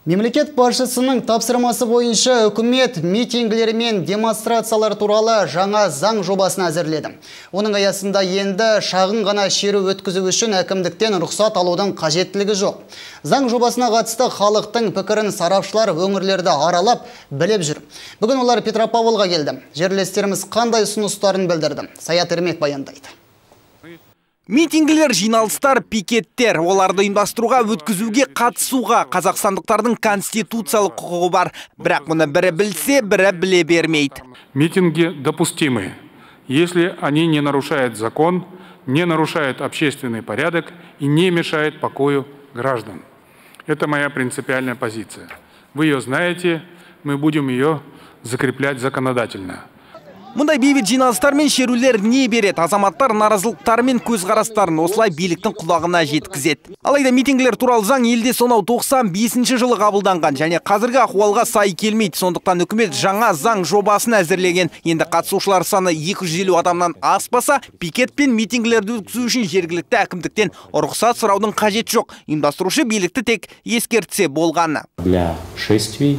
Мемлекет басшысының тапсырмасы бойынша үкімет митингілері мен демонстрациялар туралы жаңа заң жобасын әзірледі. Оның аясында енді шағын ғана шеру өткізу үшін әкімдіктен рұқсат алудың қажеттілігі жоқ. Заң жобасына қатысты халықтың пікірін сарапшылар өңірлерді аралап біліп жүр. Бүгін олар Петропавлға келді. Жерлестеріміз қандай ұсыныстарын білдірді? Саят Ермек баяндайды. Митингілер, жиналыстар, пикеттер, оларды ұйымдастыруға, өткізуге, қатысуға қазақстандықтардың конституциялық құқығы бар. Бірақ мұны бірі білсе, бірі біле бермейді. Митинги допустимы, если они не нарушают закон, не нарушают общественный порядок и не мешают покою граждан. Это моя принципиальная позиция. Вы ее знаете, мы будем ее закреплять законодательно. Мұндай бейбіт жиналыстар мен шерулер не береді? Азаматтар наразылықтары мен көзқарастарын осылай биліктің құлағына жеткізеді. Алайда митингілер туралы заң елде сонау 95 жылы қабылданған және қазіргі ахуалға сай келмейді. Сондықтан үкімет жаңа заң жобасын әзірлеген. Енді қатысушылар саны 250 адамнан аспаса, пикет пен митингілерді өткізу үшін жергілікті әкімдіктен рұқсат сұраудың қажет жоқ. Ұйымдастырушы билікті тек ескертсе болғаны. Для шествий,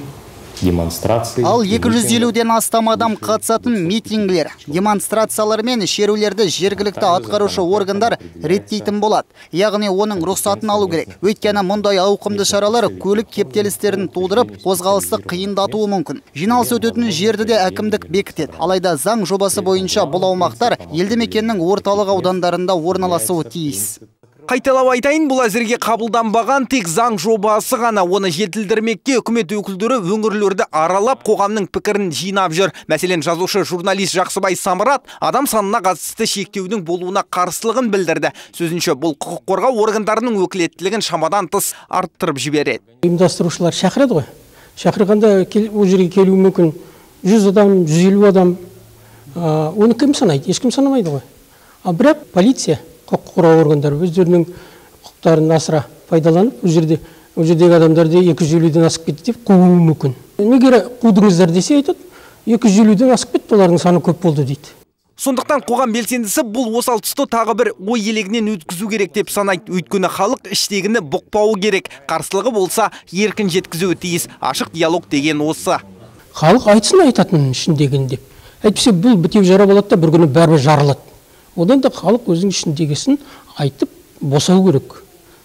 демонстрации. Ал 250-ден астам адам қатысатын митингілер, демонстрациялар мен шерулерді жергілікті атқарушы органдар реттейтін болады. Яғни оның рұқсатын алу керек. Өйткені мұндай ауқымды шаралар көлік кептелістерін тудырып, қозғалысты қиындатуы мүмкін. Жиналыс өтетін жерді де әкімдік бекітеді. Алайда заң жобасы бойынша бұл аумақтар елді мекеннің орталық аудандарында орналасуы тиіс. Қайталап айтайын, бұл әзірге қабылданбаған тек заң жобасы ғана. Оны жетілдірмекке үкімет өкілдері өңірлерді аралап қоғамның пікірін жинап жүр. Мәселен, жазушы журналист Жақсыбай Самырат адам санына қатысты шектеудің болуына қарсылығын білдірді. Сөзінше, бұл құқық қорғау органдарының өкілеттілігін шамадан тыс арттырып жібереді. Ұйымдастырушылар шақырады ғой. Шақырғанда ол жерге келуі мүмкін 100 адам, 150 адам. Оны кім санайды? Ешкім санамайды ғой. Ал бірақ полиция, құқық қорғау органдары өздерінің құқықтарын асыра пайдаланып, ол жердегі адамдарды 250-ден асып кетті деп қууы мүмкін. Неге қудыңыздар десе айтады, 250-ден асып кетті, олардың саны көп болды дейді. Сондықтан қоғам белсендісі бұл осал тұсты тағы бір ой елегінен өткізу керек деп санайды. Өйткені халық іштегіні бұқпауы керек. Қарсылығы болса еркін жеткізуі тиіс. Ашық диалог деген осы. Халық айтсын айтатын ішіндегін деп. Әйтпесе бұл бітеу жара болады да бір күні бәрі жарылады. Одан да халық өзінің ішіндегісін айтып босау керек.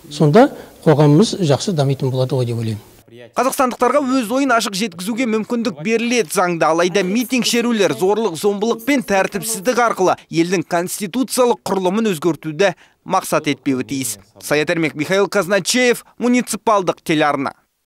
Сонда қоғамымыз жақсы дамитын болады ғой деп ойлаймын. Қазақстандықтарға өз ойын ашық жеткізуге мүмкіндік беріледі заңда. Алайда митинг шерулер зорлық, зомбылық пен тәртіпсіздік арқылы елдің конституциялық құрылымын өзгертуді мақсат етпеуі тиіс. Саят Ермек, Михаил Казначеев, муниципалдық телеарна.